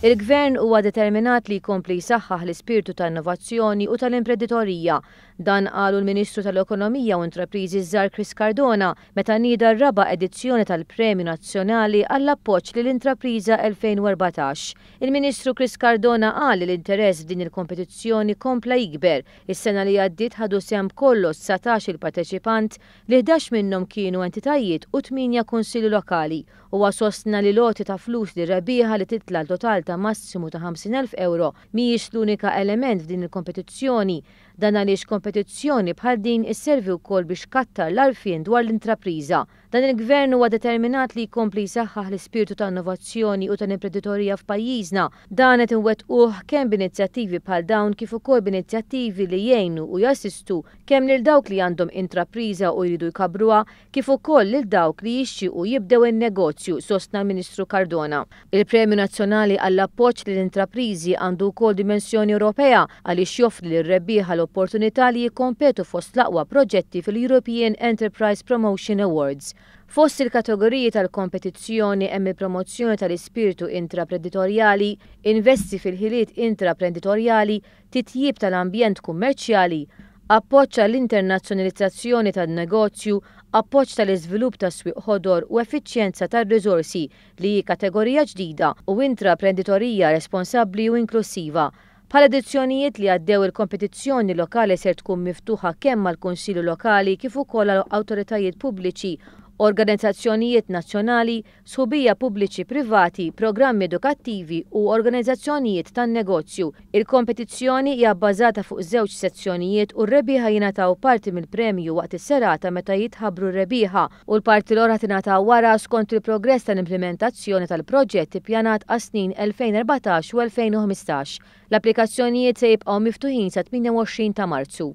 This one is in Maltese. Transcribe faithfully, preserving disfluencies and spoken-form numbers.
Il-Gvern huwa determinat li jkompli jsaħħaħ l-ispirtu ta' innovazzjoni u tal-imprenditorija. Dan qalu l-Ministru tal-Ekonomija u Intrapriżi Żgħar Chris Cardona meta nieda r-raba' edizzjoni tal-Premju Nazzjonali għall-appoġġ lill-Intrapriża elfejn u erbatax. Il-Ministru Chris Cardona qal li l-interess f'din il-kompetizzjoni kompla jikber. Is-sena li għaddiet ħadu sehem b'kollox dsatax il-parteċipant, li ħdax minnhom kienu entitajiet u tmienja kunsilli lokali. Huwa sostna li l-għoti ta' flus lir-rebbieħa, li titla' total ta' massimu ta' ħamsin elf euro, mhijiex l-unika element f'din il-kompetizzjoni. Dan għaliex kompetizzjoni bħal din isservi wkoll biex tkattar l-għarfien dwar l-intrapriża. "Dan il-gvern huwa determinat li jkompli jsaħħaħ l-ispirtu ta' innovazzjoni u tal-imprenditorija f'pajjiżna. Dan qed inwettquh kemm b'inizjattivi bħal dawn kif ukoll b'inizjattivi li jgħinu u jassistu kemm lil dawk li għandhom intrapriża u jridu jkabbruha kif ukoll lil dawk li jixtiequ jibdew in-negozju", sostna l-Ministru Cardona. Il-Premju Nazzjonali għall-appoġġ lill-intrapriżi għandu wkoll dimensjoni Ewropea, għaliex joffri lir-rebbieħa l-opportunità li jikkompetu fost l-aqwa proġetti fil-European Enterprise Promotion Awards. Fost il-kategoriji tal-kompetizzjoni hemm il-promozzjoni tal-ispirtu intraprenditorjali, investi fil-ħiliet intraprenditorjali, titjib tal-ambjent kummerċjali, appoġġ għall-internazzjonalizzazzjoni tan-negozju, appoġġ tal-iżvilupp ta' swieq ħodor u effiċjenza tar-riżorsi, li hi kategorija ġdida, u intraprenditorija responsabbli u inklusiva. Bħal edizzjonijiet li għaddew, il-kompetizzjoni lokali ser tkun miftuħa kemm mal-Kunsilli Lokali kif ukoll awtoritajiet pubbliċi, organizzazzjonijiet nazzjonali, sħubija pubbliċi privati, programmi edukattivi u organizzazzjonijiet tan-negozju. Il-kompetizzjoni hija bbażata fuq żewġ sezzjonijiet u r-rebbieħa jingħataw parti mill-premju waqt is-serata meta jitħabbru r-rebbieħa, u l-parti l-oħra tingħata wara skont il-progress tal-implementazzjoni tal-proġett ippjanat għas-snin elfejn u erbatax u elfejn u ħmistax. L-applikazzjonijiet se jibqgħu miftuħin sa tmienja u għoxrin ta' Marzu.